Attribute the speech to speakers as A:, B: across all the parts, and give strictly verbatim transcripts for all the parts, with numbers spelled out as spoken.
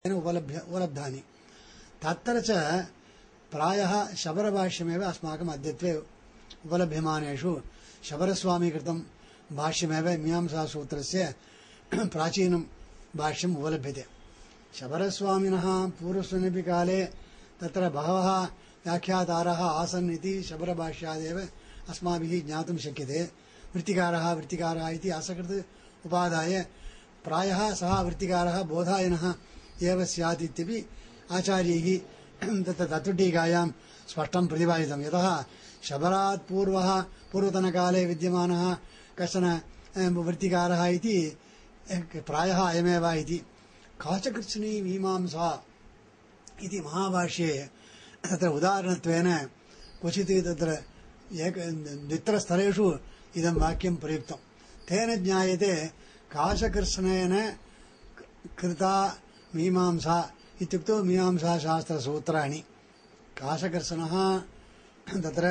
A: उपलभ्य उपलब्धानि तत्र च प्रायः शबरभाष्यमेव अस्माकम् अद्यत्वे उपलभ्यमानेषु शबरस्वामी कृतं भाष्यमेव मीमांसासूत्रस्य प्राचीनं भाष्यम् उपलभ्यते। शबरस्वामिनः पूर्वस्मिन्नपि काले तत्र बहवः व्याख्यातारः आसन् इति शबरभाष्यादेव अस्माभिः ज्ञातुं शक्यते। वृत्तिकारः वृत्तिकारः इति असकृत् उपादाय प्रायः सः वृत्तिकारः बोधायनः एव स्यात् इत्यपि आचार्यैः तत्र तत्त्वटीकायां स्पष्टं प्रतिपादितं। यतः शबरात् पूर्वः पूर्वतनकाले विद्यमानः कश्चन वृत्तिकारः इति प्रायः अयमेव इति। काचकृत्स्नी मीमांसा इति महाभाष्ये तत्र उदाहरणत्वेन क्वचित् तत्र एक द्वित्रस्थलेषु इदं वाक्यं प्रयुक्तं। तेन ज्ञायते काशकृत्स्नेन कृता मीमांसा इत्युक्तौ मीमांसाशास्त्रसूत्राणि। काशकृत्स्नः तत्र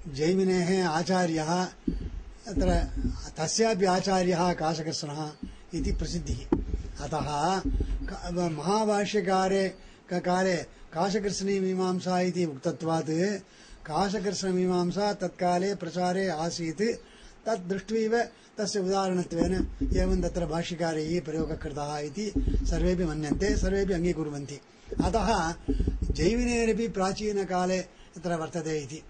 A: जैमिनेः आचार्यः, तत्र तस्यापि आचार्यः काशकृत्स्नः इति प्रसिद्धिः। अतः महाभाष्यकारे काले काशकृत्स्नी मीमांसा इति उक्तत्वात् काशकृत्स्नमीमांसा तत्काले प्रचारे आसीत्। तद् दृष्ट्वैव तस्य उदाहरणत्वेन एवं तत्र भाष्यकारैः प्रयोगः कृतः इति सर्वेपि मन्यन्ते, सर्वेपि अङ्गीकुर्वन्ति। अतः जैमिनेरपि प्राचीनकाले तत्र वर्तते इति।